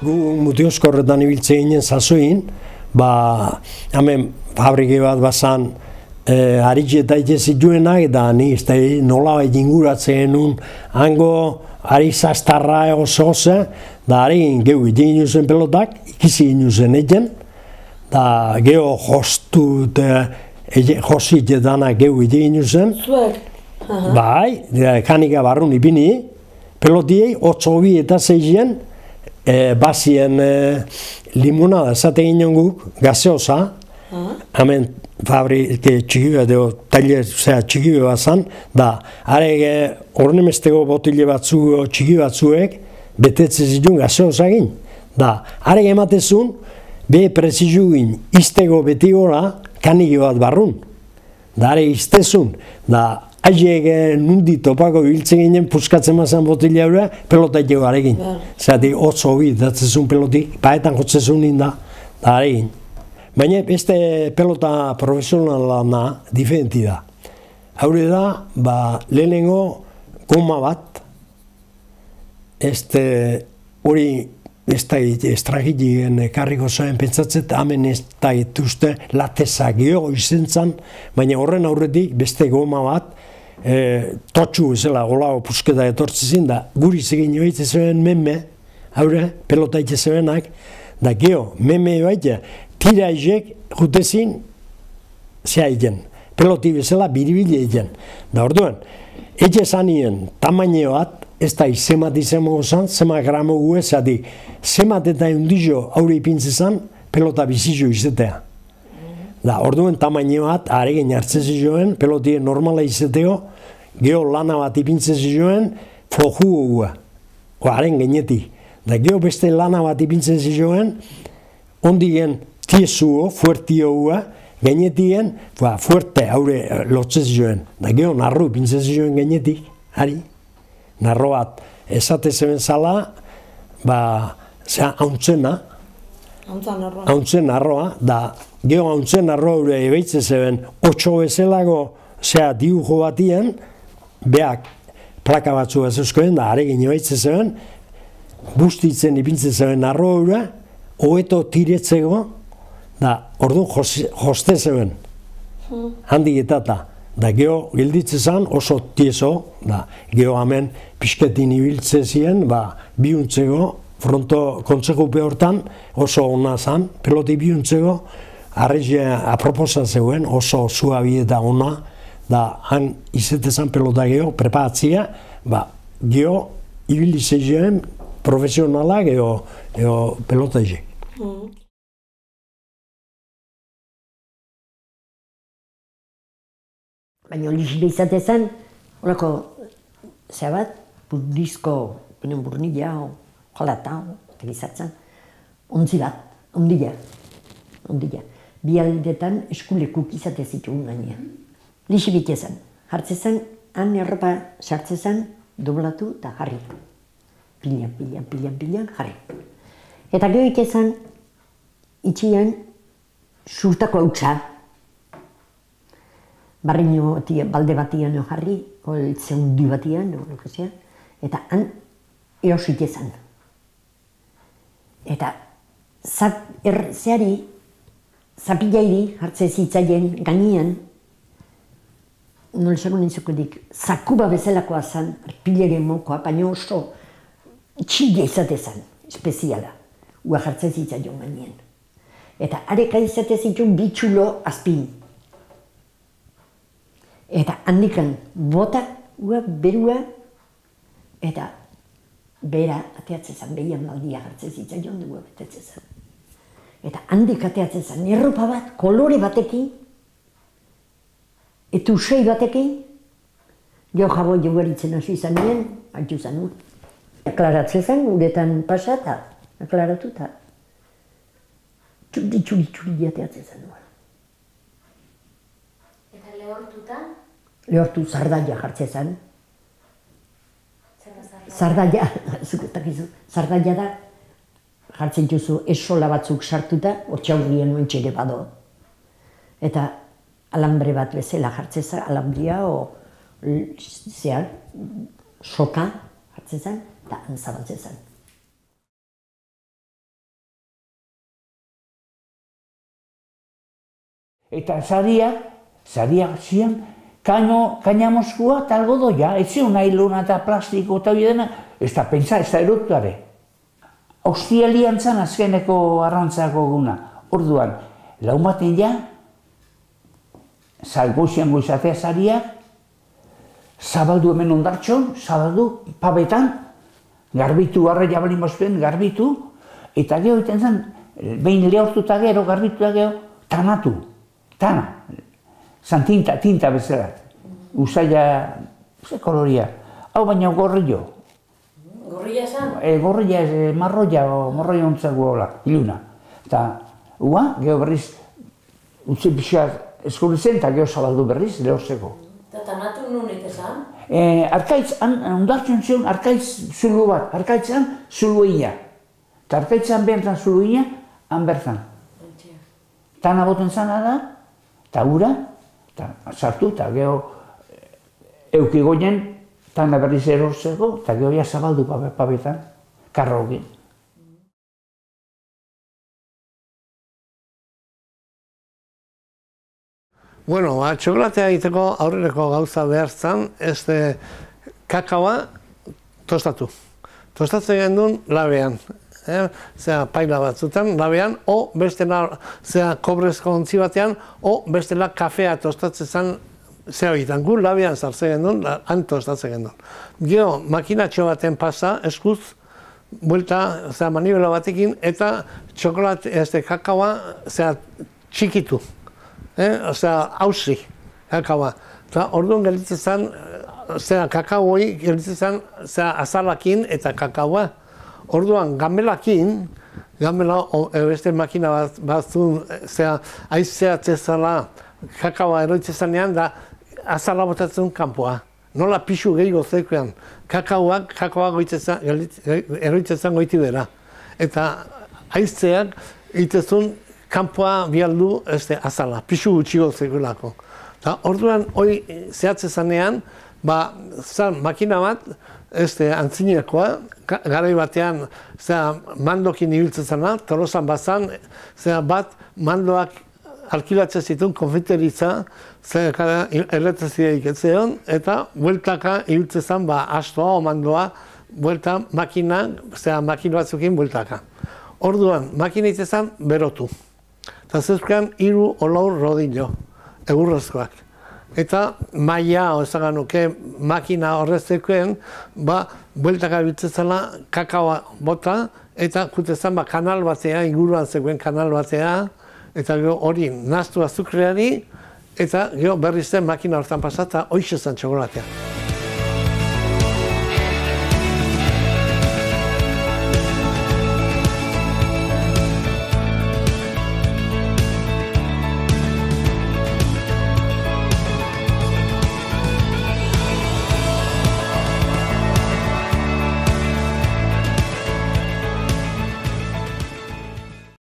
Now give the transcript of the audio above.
gu Mutioskorretan ibiltzen ginen sasoin, hemen fabrike bat bazan haritxe eta ite zituenak, eta ni nolabait inguratzen genuen hango ari zastarra oso, da ari gehu ite ginuzen pelotak, ikizi ginuzen egen, da geho josit edanak gehu ite ginuzen. Zuek? Bai, kanika barrun ipini, pelotiei 8 eta 6 bazien limonada esate ginen guk, gaseosa, hemen fabrike txiki bat, taller txiki bat zan, da, are ornemesteko botile batzu txiki batzuek, betetzen zituen gaseosa egin. Da, are ematezun, be prezizu egin, izteko beti gora, kaniki bat barrun. Da, are iztezun, da, haiek nundi topako biltzen ginen, puskatzen mazan botile haura, pelota ego aregin. Zerati, 8 datzezun pelotik, paetan jotzezun ninda, da aregin. Baina beste pelota profesionalana diferenti da. Haure da, lehenengo goma bat, hori ez da estragilien karriko zoen pentsatzet, hemen ez da etuzte latezak gehiago izentzan, baina horren aurretik beste goma bat, totxu ezela golao pusketa etortzezin, da guri zegin joitze zuen meme, haure, pelota itze zuenak, da geho, meme baita, tira izek jutezin zea egen, peloti bezala biribile egen. Da orduan, ege zanien tamaino bat, ez da zemat izango zan, zemat gramo gue, zati, zemat eta eundizo aurre ipintze zan, pelota bizizo izatea. Da orduan tamaino bat, aregin hartzen zioen, pelotien normala izateo, geho lana bat ipintze zioen, floju gue, haren genetik. Da geho beste lana bat ipintze zioen, ondigen tiesuo, fuertio gue, genetien, fuerte haure lotzez joen. Da geho narro ipintzez joen genetik, hari. Narro bat esate zeben zala, hauntzena, hauntzen narroa, da geho hauntzen narroa haure ebeitze zeben 8 bezalago dibujo batien, beak plaka batzu bazuzkoen, da aregin ebeitze zeben, bustitzen ipintzen zeben narroa haure, hoeto tiretzeko, da orduan joste zeben, handik etata. Da geho gilditze zan oso tieso, da geho hemen pixketin ibiltze ziren, bihuntzeko, fronto kontzejupe hortan oso ona zan, peloti bihuntzeko, arrezia aproposa zeuen, oso zuabi eta ona, da han izete zan pelota geho, preparatzia, geho ibilitze ziren profesionala geho pelota izek. Baina lixile izate zen, horako, bat, burdizko, burnila, jolata, eta gizatzen, ontzi bat, ondila. Bi aldetan eskulekuk izate zituen gainean. Lixi bite zen, jartze zen, han erropa sartze zen, doblatu eta jarri. Pilan, jarri. Eta gehoik ezan, itxian, surtako hautsa, barriño balde batian jarri, zeundi batian, eta han eosik ezan. Eta zeari, zapilairi hartze zitzaien gainean, nolzako nintzukodik, zakuba bezalakoa zan, arpilere mokoa, baina oso txile izate zan, espeziala, ua hartze zitzaion gainean. Eta areka izate zituen bitxulo azpin. Eta handikan bota, berua, eta bera ateatzen zen, behian maldia hartzen zitzaion dugu betetzen zen. Eta handik ateatzen zen, erropa bat, kolore batekin, eta usei batekin, jo jabo jogaritzen hasi zanien, haitu zanun. Aklaratzen zen, uretan pasata, aklaratu eta txuri ateatzen zen. Lehortuta? Lehortu zardaia jartzen zen. Zardaia, zardaia da, jartzen duzu esola batzuk sartuta, hortxaurrien nuen txere bado. Eta alambre bat bezala jartzen zen, alambria soka jartzen zen, eta antzabatzen zen. Eta sariak zian, kaina moskua eta algodoia, ez zion nailona eta plastiko eta hori dena, ez da pentsa, ez da erotuare. Hostialian zan azkeneko arrantzako guna. Orduan, laumaten ja, goizian goizatea sariak, zabaldu hemen ondartxon, zabaldu pabetan, garbitu, arra jabalin bozpen, garbitu, eta gero iten zen, behin lehortu eta gero, garbitu eta gero, tanatu, tana. Zan tinta bezala. Usaila, ze koloria. Hau baina gorrillo. Gorrilla esan? Gorrilla, marroia ontzago hola, iluna. Eta, gero berriz, utzi pixak eskurri zen, eta gero zabaldu berriz, lehorzeko. Eta tanatu nunik esan? Arkaitz, ondartzen zion, arkaitz zulu bat, arkaitzan zuluia. Eta arkaitzan behantzan zuluia, han bertzan. Tana boten zana da, eta ura, eta sartu, eta gero eukigoien, tana berriz erorzeko, eta gero ja zabaldu pabetan, karrokin. Bueno, txokolatea egiteko aurreneko gauza behar zen, kakaoa tostatu. Tostatzen gendun labean. Paila batzutan, labean, o bestela kobrezko ontzi batean, o bestela kafea tostatzen zen egiten. Gu labean sartzen gendun, han tostatzen gendun. Gero, makinatxo baten pasa, eskuz, buelta, manibela batekin, eta kakaoa txikitu. Hauzi, kakaoa. Orduan gelditzen zen, kakaoi gelditzen zen azalakin eta kakaoa. Orduan, gamelakin, beste makina batzun, aizeatzen zela kakaoa eroitzen zenean, da azala botatzen kanpoa. Nola pixu gehiago zeikoan, kakaoa eroitzen zen goiti bera. Eta aizeak egiten kanpoa bialdu azala, pixu gutxigo zegoelako. Orduan, hori zehatzen zanean, makina bat, antzinekoa, garai batean mandokin ibiltzen zena, Tolosan bazan, bat mandoak alkilatzen zituen konfiteritza, elektrizia iketzeon, eta bueltaka ibiltzen zen, astoa o mandoa, buelta makina batzukin bueltaka. Orduan, makina itzen zen berotu. Eta zezkan 3 o 4 rodillo, egurrezkoak. Eta maia, ozagan nuke, makina horreztekoen, bueltaka biltzen zela kakaoa bota, eta kutezan kanal batea, inguruan zegoen kanal batea, eta hori naztu azukreari, eta berriz zen makina hortan pasata, hoxe zen txokolatea.